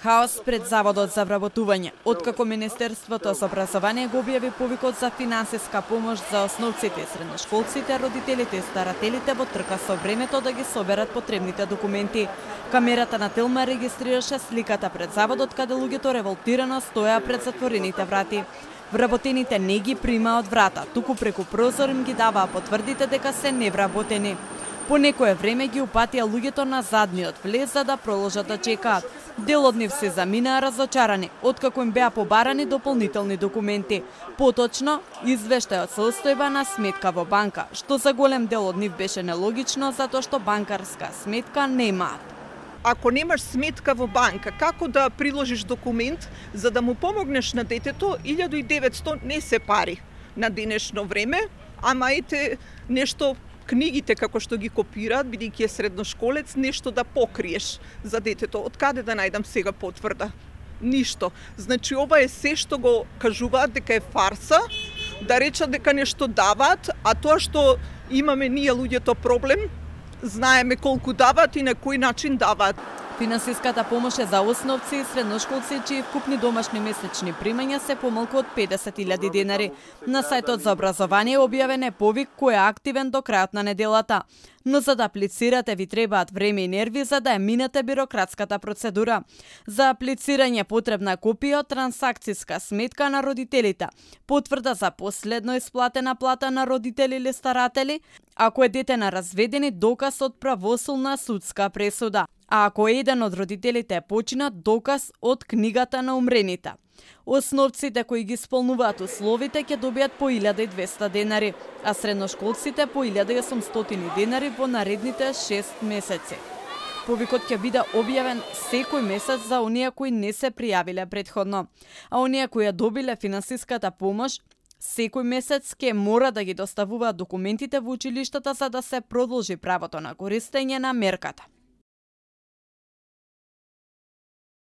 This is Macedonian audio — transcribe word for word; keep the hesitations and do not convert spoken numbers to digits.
Хаос пред Заводот за вработување. Откако Министерството за образование го објави повикот за финансиска помош за основците и средношколците, родителите и старателите во трка со времето да ги соберат потребните документи. Камерата на Телма регистрираше сликата пред Заводот каде луѓето револтирано стоја пред затворените врати. Вработените не ги примаат врата, туку преку прозор им ги даваа потврдите дека се невработени. По некое време ги упатија луѓето на задниот влез за да продолжат да чекаат. Дел од нив се заминаа разочарани, откако им беа побарани дополнителни документи. Поточно, извештајот со состојба на сметка во банка, што за голем дел од нив беше нелогично затоа што банкарска сметка немаат. Ако немаш сметка во банка, како да приложиш документ за да му помогнеш на детето? илјаду и деветсто не се пари на денешно време, ама ете нешто книгите како што ги копираат, бидејќи е средношколец, нешто да покриеш за детето. Од каде да најдам сега потврда? Ништо. Значи ова е се што го кажуваат дека е фарса, да речат дека нешто даваат, а тоа што имаме ние луѓето проблем, знаеме колку даваат и на кој начин даваат. Финансиската помош е за основци и средношколци чии вкупни домашни месечни примања се помалку од педесет илјади денари. На сајтот за образование објавен е повик кој е активен до крајот на неделата. Но за да аплицирате ви требаат време и нерви за да ја минете бирократската процедура. За аплицирање потребна копија од трансакциска сметка на родителите, потврда за последно исплатена плата на родители или старатели, ако е дете на разведени, доказ од правосудна судска пресуда. А ако еден од родителите е починат, доказ од книгата на умрените. Основците кои ги исполнуваат условите ќе добијат по илјада и двесте денари, а средношколците по илјада и осумстотини денари во наредните шест месеци. Повикот ќе биде објавен секој месец за оние кои не се пријавиле претходно, а оние кои ја добиле финансиската помош секој месец ќе мора да ги доставуваат документите во училиштата за да се продолжи правото на користење на мерката.